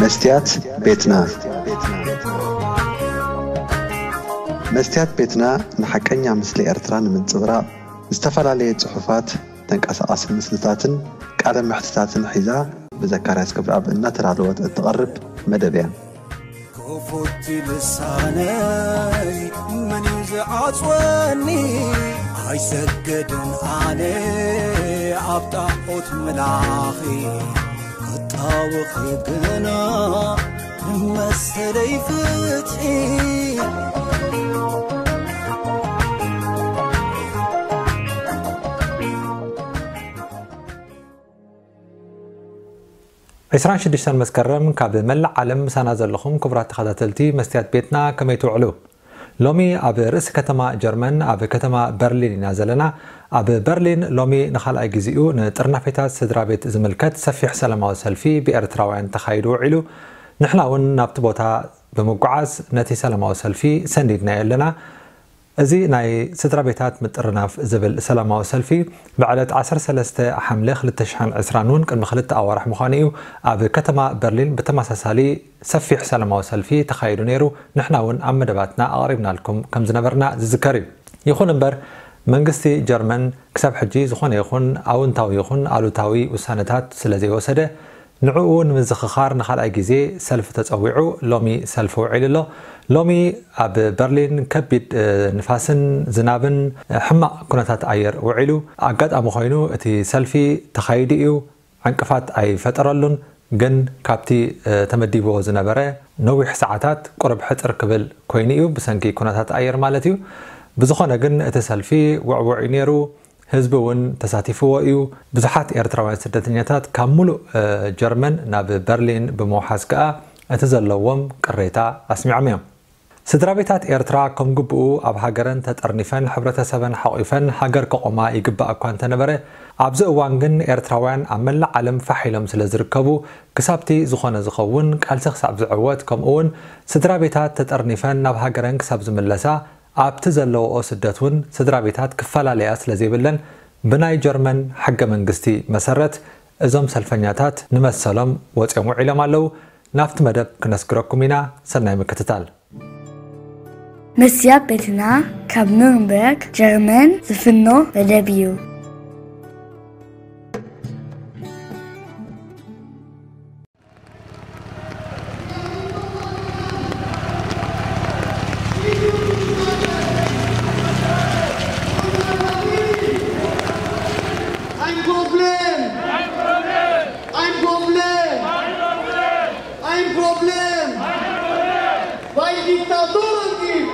መስትያት ቤትና። መስትያት ቤትና ንሓቀኛ ምስሊ ኤርትራ ንምንጽብራቕ ዝተፈላለየ ጽሑፋት፣ ተንቀሳቓሲ ምስልታትን ቃለ መሕትታትን ሒዛ ብዘካርያስ ክብረኣብ እናተዳለወት እትቐርብ መደብ እያ። ክፉት ልሳነይ መን እዩ ዝዓጽወኒ? ኣይሰግድን ኣነ ኣብ ጣዖት ምላኺ፣ ክጣወኺ ግና ንመሰለይ ፍትሒ። ዕስራን ሽዱሽተን መስከረም፣ ካብ መላእ ዓለም ምሳና ዘለኹም ክቡራት ተኸታተልቲ መስትያት ቤትና፣ ከመይ ትውዕሉ? ሎሚ ኣብ ርእሲ ከተማ ጀርመን፣ ኣብ ከተማ በርሊን ኢና ዘለና። ኣብ በርሊን ሎሚ ንኻልኣይ ግዜኡ ንጥርናፌታት ስድራ ቤት ዝምልከት ሰፊሕ ሰላማዊ ሰልፊ ብኤርትራውያን ተኻይዱ ውዒሉ። ንሕና እውን ናብቲ ቦታ ብምጉዓዝ ነቲ ሰላማዊ ሰልፊ ሰኒድናዮ ኣለና። እዚ ናይ ስድራ ቤታት ምጥርናፍ ዝብል ሰላማዊ ሰልፊ ብዕለት ዓሰርተ ሰለስተ ሓምለ ክልተ ሽሕን ዕስራን እውን ቅድሚ ክልተ ኣዋርሕ ምዃኑ እዩ ኣብ ከተማ በርሊን ብተመሳሳሊ ሰፊሕ ሰላማዊ ሰልፊ ተኻይዱ ነይሩ። ንሕና እውን ኣብ መደባትና ኣቕሪብናልኩም ከም ዝነበርና ዝዝከር እዩ። ይኹን እምበር መንግስቲ ጀርመን ክሳብ ሕጂ ዝኾነ ይኹን ኣውንታዊ ይኹን ኣሉታዊ ውሳነታት ስለ ዘይወሰደ ንዕኡ ንምዝኽኻር ንኻልኣይ ግዜ ሰልፊ ተጸዊዑ ሎሚ ሰልፊ ውዒሉ ኣሎ። ሎሚ ኣብ በርሊን ከቢድ፣ እ፣ ንፋስን ዝናብን፣ እ፣ ሕማቕ ኩነታት ኣየር ውዒሉ። ኣጋጣሚ ኮይኑ እቲ ሰልፊ ተኻይዱ እዩ። ዕንቅፋት ኣይፈጠረሉን፣ ግን ካብቲ፣ እ፣ ተመዲብዎ ዝነበረ ነዊሕ ሰዓታት ቁሩብ ሕጽር ክብል ኮይኑ እዩ፣ ብሰንኪ ኩነታት ኣየር ማለት እዩ። ብዝኾነ ግን እቲ ሰልፊ ውዕዉዕ እዩ ነይሩ። ህዝቢ እውን ተሳቲፍዎ እዩ። ብዙሓት ኤርትራውያን ስደተኛታት ካብ ሙሉእ፣ እ፣ ጀርመን ናብ በርሊን ብምውሓዝ ከኣ እቲ ዘለዎም ቅሬታ ኣስሚዖም እዮም። ስድራ ቤታት ኤርትራ ከም ግብኡ ኣብ ሃገረን ተጠርኒፈን ሕብረተሰበን ሓቑፈን ሃገር ከቖማ ይግባእ እኳ እንተነበረ፣ ኣብዚ እዋን ግን ኤርትራውያን ኣብ መላእ ዓለም ፋሕ ኢሎም ስለ ዝርከቡ፣ ክሳብቲ ዝኾነ ዝኸውን ቃልሲ ክሳብ ዝዕወት፣ ከምኡ እውን ስድራ ቤታት ተጠርኒፈን ናብ ሃገረን ክሳብ ዝምለሳ፣ ኣብቲ ዘለውኦ ስደት እውን ስድራ ቤታት ክፈላለያ ስለ ዘይብለን፣ ብናይ ጀርመን ሕገ መንግስቲ መሰረት እዞም ሰልፈኛታት ንመሰሎም ወፂኦም ውዒሎም ኣለዉ። ናብቲ መደብ ክነስግረኩም ኢና። ሰናይ ምክትታል። መስትያት ቤትና ካብ ኑርንበርግ ጀርመን ዝፍኖ መደብ እዩ። Ein Problem! Ein Problem! Ein Problem! Weil Diktatoren gibt!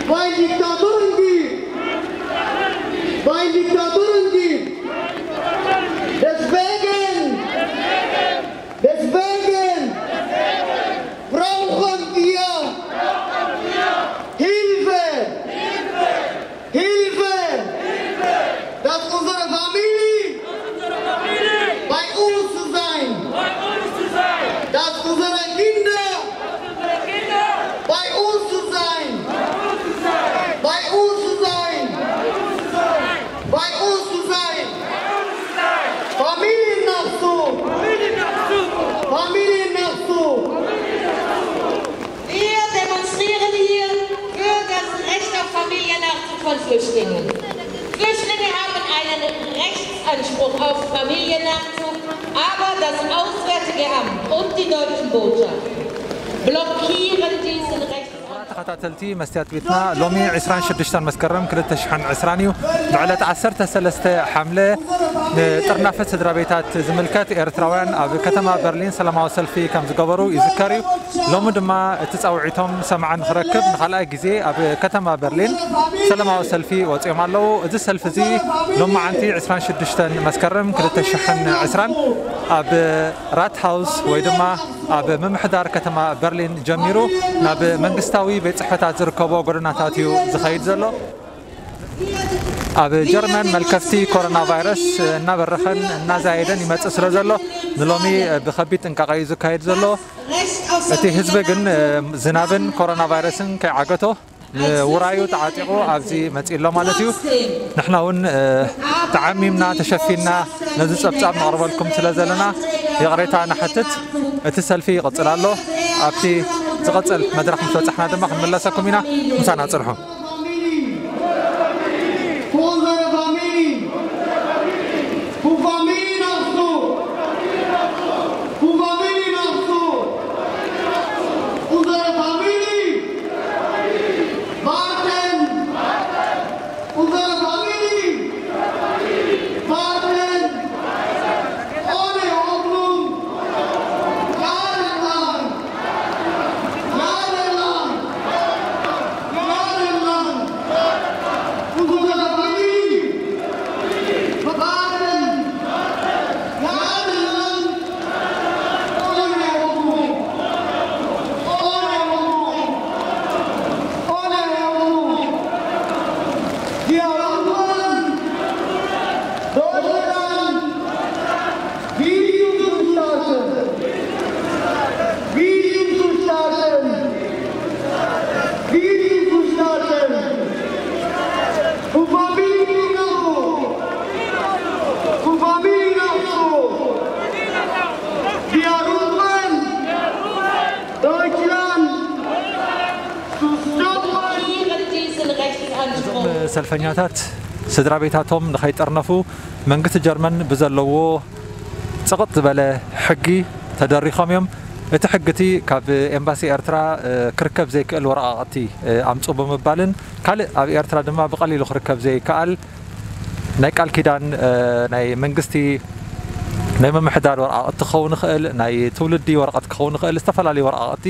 Weil Diktatoren gibt! Weil Diktatoren gibt! Deswegen! Deswegen! Brauchen wir Hilfe! Hilfe! Dass unsere Familie bei uns zu sein! Dass unsere Kinder bei uns zu sein! Bei uns zu sein! Bei uns zu sein! Familiennachzug! Familiennachzug! Wir demonstrieren hier für das Recht auf Familiennachzug von Flüchtlingen. Flüchtlinge haben einen Rechtsanspruch auf Familiennachzug, aber das Auswärtige Amt und die deutschen Botschaft blockieren diesen Rechtsanspruch. ተኸታተልቲ መስትያት ቤትና፣ ሎሚ ዕስራን ሽዱሽተን መስከረም ክልተ ሽሕን ዕስራን እዩ። ብዕለት ዓሰርተ ሰለስተ ሓምለ ንጥርናፈት ስድራ ቤታት ዝምልከት ኤርትራውያን ኣብ ከተማ በርሊን ሰላማዊ ሰልፊ ከም ዝገበሩ ይዝከር እዩ። ሎሚ ድማ እቲ ጻውዒቶም ሰማዒ ንኽረክብ ንኻልኣይ ግዜ ኣብ ከተማ በርሊን ሰላማዊ ሰልፊ ወጺኦም ኣለዉ። እዚ ሰልፊ እዚ ሎማዓንቲ ዕስራን ሽዱሽተን መስከረም ክልተ ሽሕን ዕስራን ኣብ ራትሃውስ ወይ ድማ ኣብ ምምሕዳር ከተማ በርሊን ጀሚሩ ናብ መንግስታዊ ቤት ጽሕፈታት ዝርከቦ ጎደናታት እዩ ዝኸይድ ዘሎ። ኣብ ጀርመን መልከፍቲ ኮሮና ቫይረስ እናበረኸን እናዛየደን ይመጽእ ስለ ዘሎ፣ ንሎሚ ብኸቢድ ጥንቃቐ እዩ ዝካየድ ዘሎ። እቲ ህዝቢ ግን ዝናብን ኮሮና ቫይረስን ከይዓገቶ ንውራዩ ተዓጢቑ ኣብዚ መጺኡ ኣሎ ማለት እዩ። ንሕና እውን፣ እ፣ ተዓሚምና ተሸፊንና ነዚ ጸብጻብ ነቕርበልኩም ስለ ዘለና፣ ይቕሬታ ንሓትት፣ እቲ ሰልፊ ይቕጽል ኣሎ። ኣብቲ ዝቕጽል መድረኽ ምስ በጻሕና ድማ ክንምለሰኩም ኢና። ምሳና ጽንሑ። Unsere Familie! Für Familie nach so! Für Familie nach so! Unsere Familie! Warten! Unsere Familie! Warten! Ohne Hoffnung! Jahrelang! Jahrelang! Jahrelang! Unsere Familie! Warten! Jahrelang! Ohne Hoffnung! Ohne Hoffnung! Ohne Hoffnung! Wir rufen Deutschland! Video zu starten! Video zu starten! Video zu starten! Für Familie nach so! Für Familie nach so! Wir rufen Deutschland! Zu stoppen! Diesen Rechtsanspruch. ሰልፈኛታት ስድራ ቤታቶም ንኸይጠርነፉ መንግስቲ ጀርመን ብዘለዎ ጽቕጥ ዝበለ ሕጊ ተደሪኾም እዮም። እቲ ሕጊ እቲ ካብ ኤምባሲ ኤርትራ፣ እ፣ ክርከብ ዘይክእል ወረቓቕቲ፣ እ፣ ኣምጽኡ ብምባልን ካልእ ኣብ ኤርትራ ድማ ብቐሊሉ ክርከብ ዘይከኣል ናይ ቃል ኪዳን፣ እ፣ ናይ መንግስቲ ናይ ምምሕዳር ወረቓቕቲ ክኸውን ይኽእል፣ ናይ ትውልዲ ወረቐት ክኸውን ይኽእል፣ ዝተፈላለዩ ወረቓቕቲ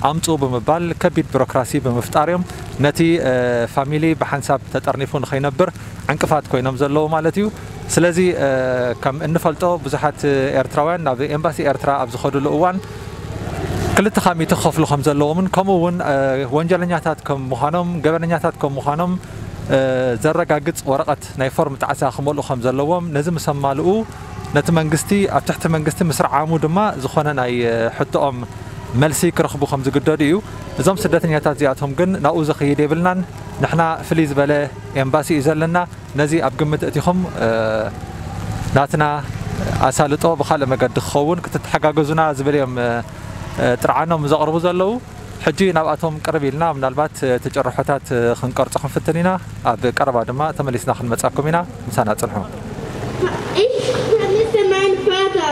ኣምጽኡ ብምባል ከቢድ ቢሮክራሲ ብምፍጣር እዮም ነቲ፣ እ፣ ፋሚሊ ብሓንሳብ ተጠርኒፉ ንኸይነብር ዕንቅፋት ኮይኖም ዘለዉ ማለት እዩ። ስለዚ፣ እ፣ ከም እንፈልጦ ብዙሓት ኤርትራውያን ናብ ኤምባሲ ኤርትራ ኣብ ዝኸድሉ እዋን ክልተ ካብ ሚእቲ ክኸፍሉ ከም ዘለዎምን ከምኡ እውን፣ እ፣ ወንጀለኛታት ከም ምዃኖም፣ ገበነኛታት ከም ምዃኖም፣ እ፣ ዘረጋግጽ ወረቐት ናይ ፎርም ጣዕሳ ክመልኡ ከም ዘለዎም፣ ነዚ ምስ ኣማልኡ ነቲ መንግስቲ ኣብ ትሕቲ መንግስቲ ምስርዓሙ ድማ ዝኾነ ናይ፣ እ፣ ሕቶኦም መልሲ ክረኽቡ ከም ዝግደዱ እዩ። እዞም ስደተኛታት እዚኣቶም ግን ናብኡ ዘኽይድ የብልናን። ንሕና ፍልይ ዝበለ ኤምባሲ እዩ ዘለና። ነዚ ኣብ ግምት እቲኹም፣ እ፣ ናትና ኣሳልጦ ብኻልእ መገዲ ክኸውን ክትተሓጋገዙና ዝብል እዮም፣ እ፣ እ፣ ጥርዓኖም ዘቕርቡ ዘለዉ። ሕጂ ናብኣቶም ቅርብ ኢልና ምናልባት፣ እ፣ እቲ ጭርሖታት፣ እ፣ ክንቀርጾ ክንፍትን ኢና። ኣብ ቀረባ ድማ ተመሊስና ክንመጻኩም ኢና። ምሳና ጽንሑ። Ich vermisse meinen Vater.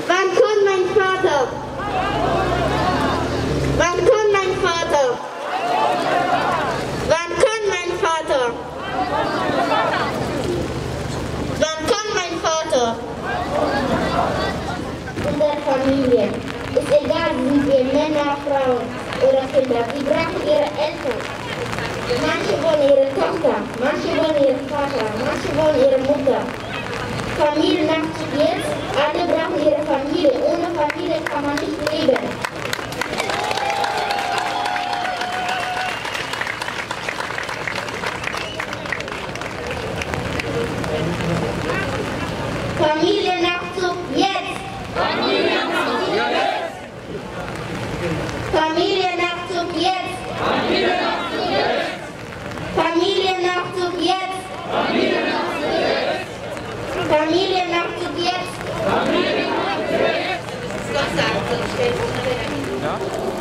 Wann kommt mein Vater? Wann kommt mein Vater? Wann kommt mein Vater? Wann kommt mein Vater? Unsere Familie. Ist egal, sind wir Männer, Frauen oder Kinder. Sie brauchen ihre Eltern. Manche wollen ihre Tochter, manche wollen ihren Vater, manche wollen ihre Mutter. Familiennachzug jetzt. Alle brauchen ihre Familie. Ohne Familie kann man nicht leben. Familiennachzug jetzt! Familiennachzug jetzt! Familiennachzug jetzt! Familiennachzug jetzt!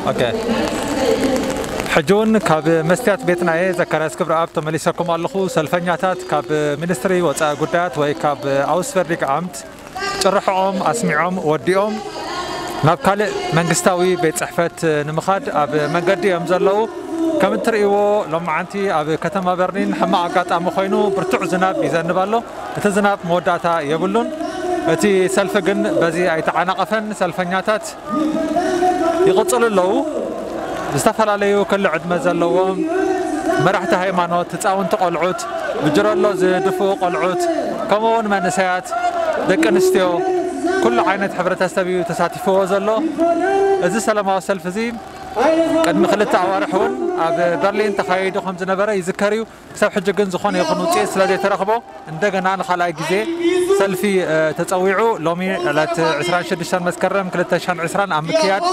ኦኬ። ሕጂ እውን ካብ መስትያት ቤትና እየ፣ ዘካርያስ ክብረኣብ፣ ተመሊሰኩም ኣለኹ። ሰልፈኛታት ካብ ሚኒስትሪ ወጻኢ ጉዳያት ወይ ካብ ኣውስቨርዲግ ኣምት ጭርሖኦም ኣስሚዖም ወዲኦም ናብ ካልእ መንግስታዊ ቤት ጽሕፈት ንምኻድ ኣብ መንገዲ እዮም ዘለዉ። ከም እትርእይዎ፣ ሎማዓንቲ ኣብ ከተማ በርሊን ሕማቕ ኣጋጣሚ ኮይኑ ብርቱዕ ዝናብ ይዘንብ ኣሎ። እቲ ዝናብ መወዳእታ የብሉን። እቲ ሰልፊ ግን በዚ ኣይተዓናቐፈን። ሰልፈኛታት ይቕጽሉ ኣለዉ። ዝተፈላለዩ ክሊ ዕድመ ዘለዎም መራሕቲ ሃይማኖት፣ ህፃውንቲ ቆልዑት፣ ብጅረሎ ዝድፍኡ ቆልዑት፣ ከምኡ እውን መንእሰያት፣ ደቂ ኣንስትዮ፣ ኩሉ ዓይነት ሕብረተሰብ እዩ ተሳቲፍዎ ዘሎ። እዚ ሰላማዊ ሰልፊ እዚ ቅድሚ ክልተ ኣዋርሕ እውን ኣብ በርሊን ተኻይዱ ከም ዝነበረ ይዝከር እዩ። ክሳብ ሕጂ ግን ዝኾነ ይኹን ውፅኢት ስለ ዘይተረኽቦ፣ እንደገና ንኻልኣይ ግዜ ሰልፊ፣ እ፣ ተጸዊዑ ሎሚ ዕለት ዕስራን ሽዱሽተን መስከረም ክልተ ሽሕን ዕስራን ኣብ ምክያድ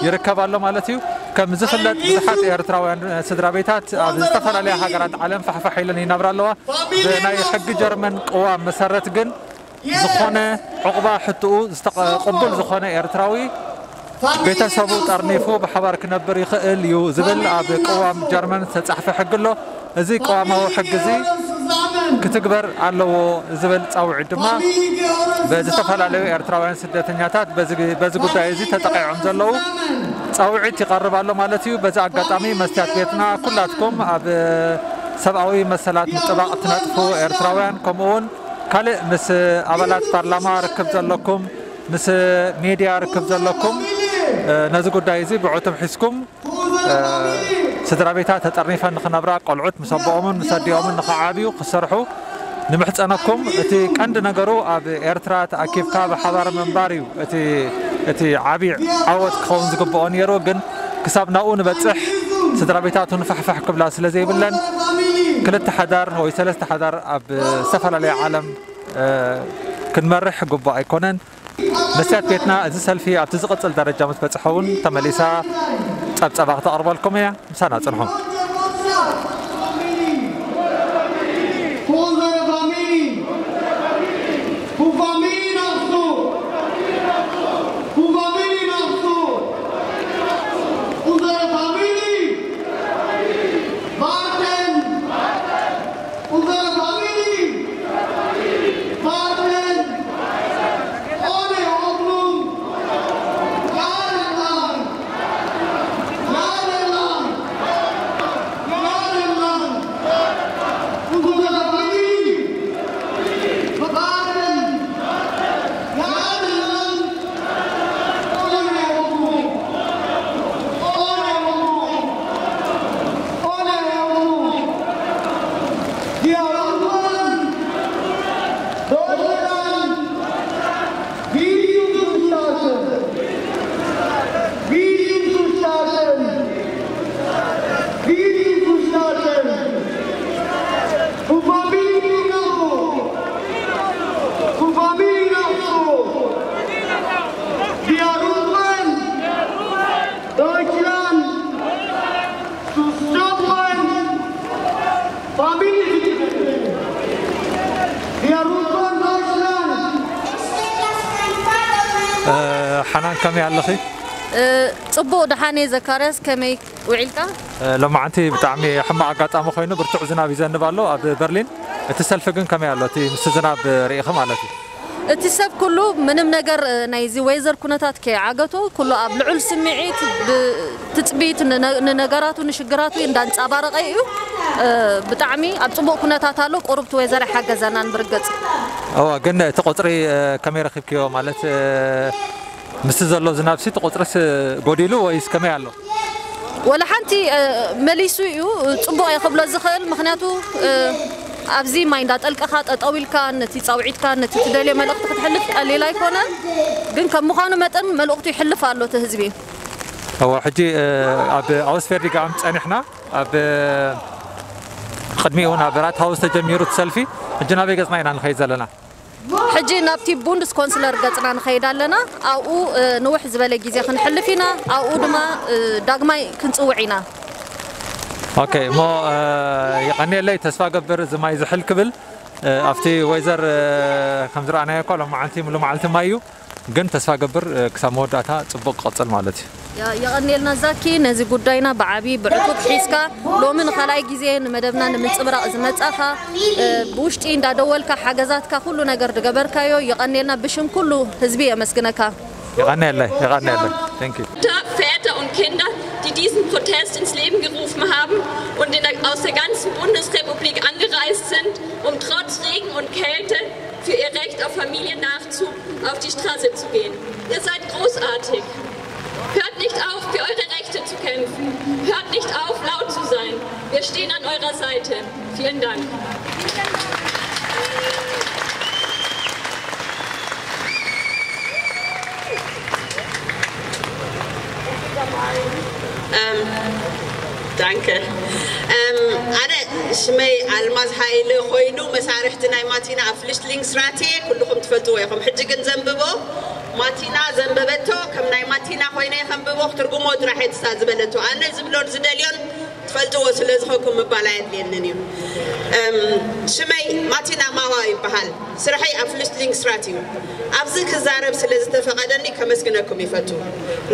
ይርከብ ኣሎ ማለት እዩ። ከም ዝፍለጥ ብዙሓት ኤርትራውያን ስድራ ቤታት ኣብ ዝተፈላለያ ሃገራት ዓለም ፋሕፋሕ ኢለን ይነብራ ኣለዋ። ብናይ ሕጊ ጀርመን ቅዋም መሰረት ግን ዝኾነ ዕቑባ ሕትኡ ዝተቐ-፣ ቅቡል ዝኾነ ኤርትራዊ ቤተሰቡ ጠርኒፉ ብሓባር ክነብር ይኽእል እዩ ዝብል ኣብ ቅዋም ጀርመን ዝተጻሕፈ ሕጊ ኣሎ። እዚ ቅዋማዊ ሕጊ እዚ ክትግበር ኣለዎ ዝብል ጻውዒት ድማ ብዝተፈላለዩ ኤርትራውያን ስደተኛታት በዚ፣ በዚ ጉዳይ እዚ ተጠቒዖም ዘለዉ ጻውዒት ይቐርብ ኣሎ ማለት እዩ። በዚ ኣጋጣሚ መስትያት ቤትና ኩላትኩም ኣብ ሰብኣዊ መሰላት ምጥባቕ ትነጥፉ ኤርትራውያን፣ ከምኡ እውን ካልእ ምስ ኣባላት ፓርላማ ርክብ ዘለኩም፣ ምስ ሜድያ ርክብ ዘለኩም፣ እ፣ ነዚ ጉዳይ እዚ ብዕቱብ ሒዝኩም፣ እ፣ ስድራ ቤታት ተጠርኒፈን ንኽነብራ፣ ቆልዑት ምስ ኣቦኦምን ምስ ኣዲኦምን ንኽዓብዩ ክሰርሑ ንምሕጸነኩም። እቲ ቀንዲ ነገሩ ኣብ ኤርትራ ተኣኪብካ ብሓባር ምንባር እዩ እቲ፣ እቲ ዓቢ ዓወት ክኸውን ዝግብኦ ነይሩ። ግን ክሳብ ናብኡ ንበጽሕ ስድራ ቤታቱ ንፋሕፋሕ ክብላ ስለ ዘይብለን፣ ክልተ ሓዳር ወይ ሰለስተ ሓዳር ኣብ ዝተፈላለየ ዓለም፣ እ፣ ክንመርሕ ግቡእ ኣይኮነን። መስትያት ቤትና እዚ ሰልፊ ኣብቲ ዝቕጽል ደረጃ ምስ በጽሐ እውን ተመሊሳ ጸብጸባ ክተቕርበልኩም እያ። ምሳና ጽንሑ። Unsere Familie! Für Familie nach so! Für Familie nach so! Unsere Familie! Warten! Unsere Familie! Warten! Ohne Hoffnung! Jahrelang! Jahrelang! Jahrelang! Unsere Familie! Warten! Jahrelang! Ohne Hoffnung! Ohne Hoffnung! Ohne Hoffnung! Wir rufen Deutschland! Wie zu starten! Wie zu starten! Wie zu starten! Für Familie nach so! Für Familie nach so! Wir rufen Deutschland zu stoppen! Familie zu retten! Wir rufen Deutschland! እ፣ ሓናን ከመይ ኣለኺ? እ፣ ጽቡቕ ደሓን እየ ዘካርያስ፣ ከመይ ውዒልካ? እ፣ ሎማዓንቲ ብጣዕሚ ሕማቕ ኣጋጣሚ ኮይኑ ብርቱዕ ዝናብ ይዘንብ ኣሎ ኣብ በርሊን። እቲ ሰልፊ ግን ከመይ ኣሎ? እቲ ምስ ዝናብ ርኢኺ ማለት እዩ። እቲ ሰብ ኩሉ ምንም ነገር፣ እ፣ ናይዚ ወይዘር ኩነታት ከይዓገቶ ኩሉ ኣብ ልዑል ስምዒት ብ-፣ ትጽቢት ንነ-፣ ንነገራቱ ንሽግራቱ እንዳንጸባረቐ እዩ። እ፣ ብጣዕሚ ኣብ ጽቡቕ ኩነታት ኣሎ። ቁሩብ እቲ ወይዘር ኣይሓገዘናን ብርግጽ። እወ፣ ግን እቲ ቁጽሪ፣ እ፣ ከመይ ረኺብክዮ? ማለት፣ እ፣ ምስቲ ዘሎ ዝናብሲ እቲ ቁጽርስ ጎዲሉ ወይስ ከመይ ኣሎ? ወላ ሓንቲ፣ እ፣ መሊሱ እዩ ጽቡቕ እየ ክብሎ ዝኽእል። ምኽንያቱ፣ እ፣ ኣብዚ ማይ እንዳጠልቀኻ ጠጠው ኢልካ ነቲ ጻውዒትካ ነቲ ትደልዮ መልእኽቲ ክትሕልፍ ቀሊል ኣይኮነን። ግን ከም ምዃኑ መጠን መልእኽቱ ይሕልፍ ኣሎ እቲ ህዝቢ። እወ፣ ሕጂ፣ እ፣ ኣብ ኣውስፌርዲጋም ጸኒሕና፣ ኣብ ቅድሚኡ እውን ኣብ ራትሃውስ ተጀሚሩ እቲ ሰልፊ። ሕጂ ናበይ ገጽና ኢና ንኸይድ ዘለና? ሕጂ ናብቲ ቡንድስ ኮንስለር ገጽና ንኸይድ ኣለና። ኣብኡ፣ እ፣ ንውሕ ዝበለ ግዜ ክንሕልፍ ኢና። ኣብኡ ድማ፣ እ፣ ዳግማይ ክንጽውዕ ኢና። ኦኬ፣ እሞ፣ እ፣ የቐንየለይ። ተስፋ ገብር እዚ ማይ ዝሕል ክብል፣ እ፣ ኣብቲ ወይዘር፣ እ፣ ከም ዝረኣናዮ እኳ ሎማዓንቲ ሙሉ መዓልቲ ማይ እዩ። ግን ተስፋ ገብር፣ እ፣ ክሳብ መወዳእታ ጽቡቕ ክቐጽል ማለት እዩ። የ-፣ የቐንየልና ዛኪ፣ ነዚ ጉዳይና ብዓቢ ብዕቱብ ሒዝካ ሎሚ ንኻልኣይ ግዜ ንመደብና ንምንጽብራቕ ዝመጻኻ፣ እ፣ ብውሽጢ እንዳደወልካ ሓገዛትካ ኩሉ ነገር ዝገበርካዮ የቐንየልና ብሽም ኩሉ ህዝቢ የመስግነካ። የቐንየለይ፣ የቐንየለይ። Thank you። Väter und Kinder, die diesen Protest ins Leben gerufen haben und in der, aus der ganzen Bundesrepublik angereist sind, um trotz Regen und Kälte für ihr Recht auf Familiennachzug auf die Straße zu gehen. Ihr seid großartig. Hört nicht auf, für eure Rechte zu kämpfen. Hört nicht auf, laut zu sein. Wir stehen an eurer Seite. Vielen Dank. Ähm, danke. Ähm, ኣነ ሽመይ ኣልማዝ ሃይለ ኮይኑ መሳርሕቲ ናይ ማቲና ኣብ ፍልሽትሊንግስራቴ ኩልኹም ትፈልጥዎ ኢኹም። ሕጂ ግን ዘንብቦ ማቲና ዘንበበቶ ከም ናይ ማቲና ኮይነ ከንብቦ ክትርጉሞ ጥራሕ እየ ትሳ ዝበለቶ። ኣነ ዝብሎን ዝደልዮን ትፈልጥዎ ስለ ዝኾንኩም ምባል ኣየድልየንን እዩ። እም፣ ሽመይ ማቲና ማዋ ይበሃል። ስራሐይ ኣብ ፍልሽትሊንግስራት እዩ። ኣብዚ ክዛረብ ስለ ዝተፈቐደኒ ከመስግነኩም ይፈቱ።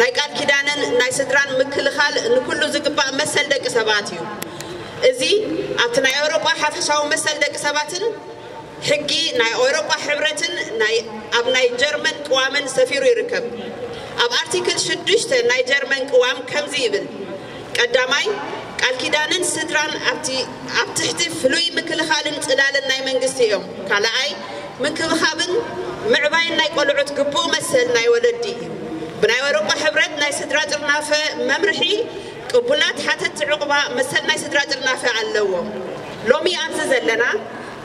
ናይ ቃል ኪዳንን ናይ ስድራን ምክልኻል ንኩሉ ዝግባእ መሰል ደቂ ሰባት እዩ። እዚ ኣብቲ ናይ ኣውሮጳ ሓፈሻዊ መሰል ደቂ ሰባትን ሕጊ ናይ ኣውሮጳ ሕብረትን ናይ ኣብ ናይ ጀርመን ቅዋምን ሰፊሩ ይርከብ። ኣብ ኣርቲክል ሽዱሽተ ናይ ጀርመን ቅዋም ከምዚ ይብል። ቀዳማይ፣ ቃል ኪዳንን ስድራን ኣብቲ ኣብ ትሕቲ ፍሉይ ምክልኻልን ጽላልን ናይ መንግስቲ እዮም። ካልኣይ፣ ምንክብኻብን ምዕባይን ናይ ቆልዑት ግቡእ መሰል ናይ ወለዲ እዩ። ብናይ ኣውሮጳ ሕብረት ናይ ስድራ ጥርናፈ መምርሒ ቅቡላት ሓተትቲ ዕቑባ መሰል ናይ ስድራ ጥርናፈ ኣለዎም። ሎሚ ኣብዚ ዘለና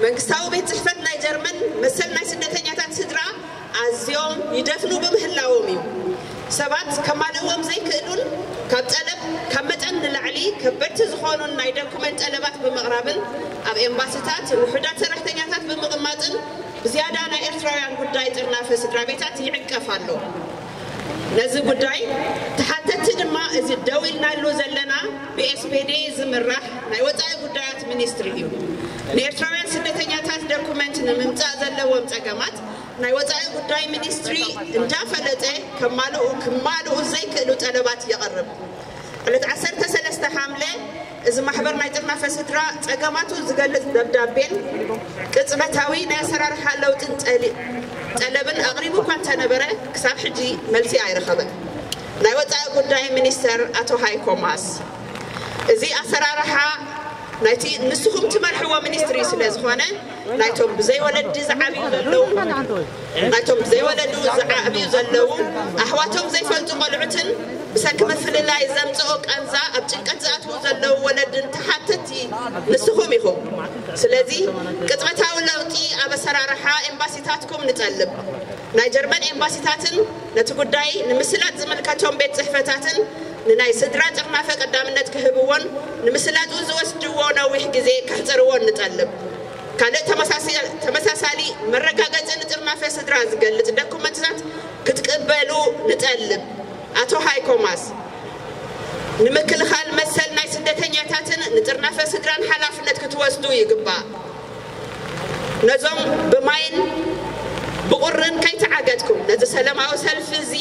መንግስታዊ ቤት ጽሕፈት ናይ ጀርመን መሰል ናይ ስደተኛታት ስድራ ኣዝዮም ይደፍኑ ብምህላዎም እዩ። ሰባት ከማልእዎም ዘይክእሉን ካብ ጠለብ ካብ መጠን ንላዕሊ ከበድቲ ዝኾኑን ናይ ዶኩመንት ጠለባት ብምቕራብን ኣብ ኤምባሲታት ውሑዳት ሰራሕተኛታት ብምቕማጥን ብዝያዳ ናይ ኤርትራውያን ጉዳይ ጥርናፈ ስድራ ቤታት ይዕንቀፍ ኣሎ። ነዚ ጉዳይ ተሓተትቲ ድማ እዚ ደው ኢልናሉ ዘለና ብኤስፔዴ ዝምራሕ ናይ ወጻኢ ጉዳያት ሚኒስትሪ እዩ። ንኤርትራውያን ስደተኛታት ዶኩመንት ንምምጻእ ዘለዎም ጸገማት ናይ ወጻኢ ጉዳይ ሚኒስትሪ እንዳፈለጠ ከማልኡ ክማልኡ ዘይክእሉ ጠለባት የቕርብ። ዕለት ዓሰርተ ሰለስተ ሓምለ እዚ ማሕበር ናይ ጥርናፈ ስድራ ጸገማቱ ዝገልጽ ደብዳቤን ቅጽበታዊ ናይ ኣሰራርሓ ለውጥን ጠሊ- ጠለብን ኣቕሪቡ እኳ እንተነበረ ክሳብ ሕጂ መልሲ ኣይረኸበን። ናይ ወጻኢ ጉዳይ ሚኒስተር ኣቶ ሃይኮ ማስ እዚ ኣሰራርሓ ናይቲ ንስኹም ትመርሕዎ ሚኒስትሪ ስለ ዝኾነ ናይቶም ብዘይ ወለዲ ዝዓብዩ ዘለዉ ናይቶም ብዘይ ወለዱ ዝዓብዩ ዘለዉ ኣሕዋቶም ዘይፈልጡ ቆልዑትን ብሰንኪ ምፍልላይ ዘምጽኦ ቃንዛ ኣብ ጭንቀት ዝኣትዉ ዘለዉ ወለድን ተሓተቲ ንስኹም ኢኹም። ስለዚ ቅጽበታዊ ለውጢ ኣብ ኣሰራርሓ ኤምባሲታትኩም ንጠልብ። ናይ ጀርመን ኤምባሲታትን ነቲ ጉዳይ ንምስላጥ ዝምልከቶም ቤት ጽሕፈታትን ንናይ ስድራ ጥርናፈ ቀዳምነት ክህብዎን ንምስላጡ ዝወስድዎ ነዊሕ ግዜ ከሕጽርዎን ንጠልብ። ካልእ ተመሳሲ- ተመሳሳሊ መረጋገጺ ንጥርናፈ ስድራ ዝገልጽ ዶኩመንትታት ክትቅበሉ ንጠልብ። ኣቶ ሃይኮ ማስ ንምክልኻል መሰል ናይ ስደተኛታትን ንጥርናፈ ስድራን ሓላፍነት ክትወስዱ ይግባእ። ነዞም ብማይን ብቑርን ከይተዓገትኩም ነዚ ሰላማዊ ሰልፊ እዚ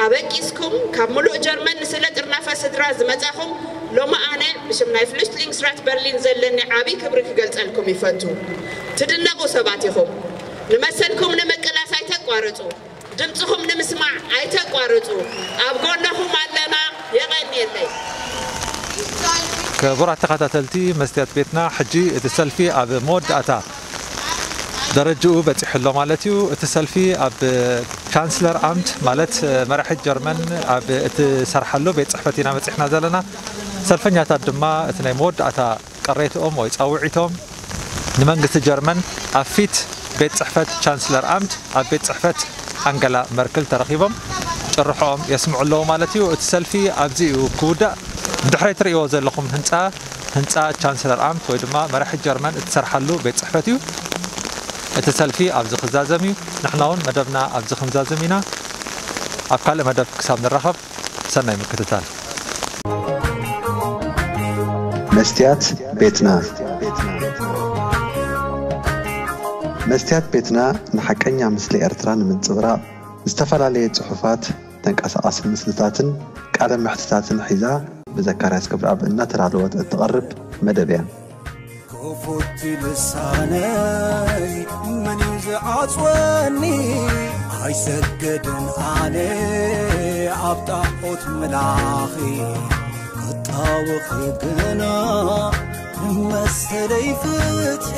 ኣበጊስኩም ካብ ምሉእ ጀርመን ንስለ ጥርናፈ ስድራ ዝመጻኹም ሎሚ ኣነ ብሽም ናይ ፍሉሽትሊንግስራት በርሊን ዘለኒ ዓቢ ክብሪ ክገልጸልኩም ይፈቱ። ትድነቑ ሰባት ኢኹም። ንመሰልኩም ንምቅላስ ኣይተቋርጹ። ድምጽኹም ንምስማዕ ኣይተቋርጹ። ኣብ ጎነኹም ኣለና። የቐንየለይ። ክቡራት ተኸታተልቲ መስትያት ቤትና፣ ሕጂ እቲ ሰልፊ ኣብ መወዳእታ ደረጅኡ በጺሑ ኣሎ ማለት እዩ። እቲ ሰልፊ ኣብ ቻንስለር ኣምት ማለት መራሒት ጀርመን ኣብ እትሰርሓሉ ቤት ጽሕፈት ኢና በጺሕና ዘለና። ሰልፈኛታት ድማ እቲ ናይ መወዳእታ ቅሬትኦም ወይ ጻውዒቶም ንመንግስቲ ጀርመን ኣብ ፊት ቤት ጽሕፈት ቻንስለር ኣምት ኣብ ቤት ጽሕፈት ኣንገላ መርክል ተረኺቦም ጭርሖኦም የስምዑ ኣለዉ ማለት እዩ። እቲ ሰልፊ ኣብዚ እዩ ክውዳእ። ድሕሪ ትርእይዎ ዘለኹም ህንጻ ህንጻ ቻንስለር ኣምት ወይ ድማ መራሒ ጀርመን እትሰርሓሉ ቤት ጽሕፈት እዩ። እቲ ሰልፊ ኣብዚ ክዛዘም እዩ። ንሕና እውን መደብና ኣብዚ ክንዛዝም ኢና። ኣብ ካልእ መደብ ክሳብ ንራኸብ ሰናይ ምክትታል። መስትያት ቤትና መስትያት ቤትና ንሓቀኛ ምስሊ ኤርትራ ንምንጽብራቕ ዝተፈላለየ ጽሑፋት፣ ተንቀሳቓሲ ምስልታትን ቃለ መሕትታትን ሒዛ ብዘካርያስ ክብረኣብ እናተዳለወት እትቐርብ መደብ እያ። ክፉት ልሳነይ መን እዩ ዝዓጽወኒ? ኣይሰግድን ኣነ ኣብ ጣዖት ምላኺ ክጣወኺ ግና ንመሰለይ ፍትሒ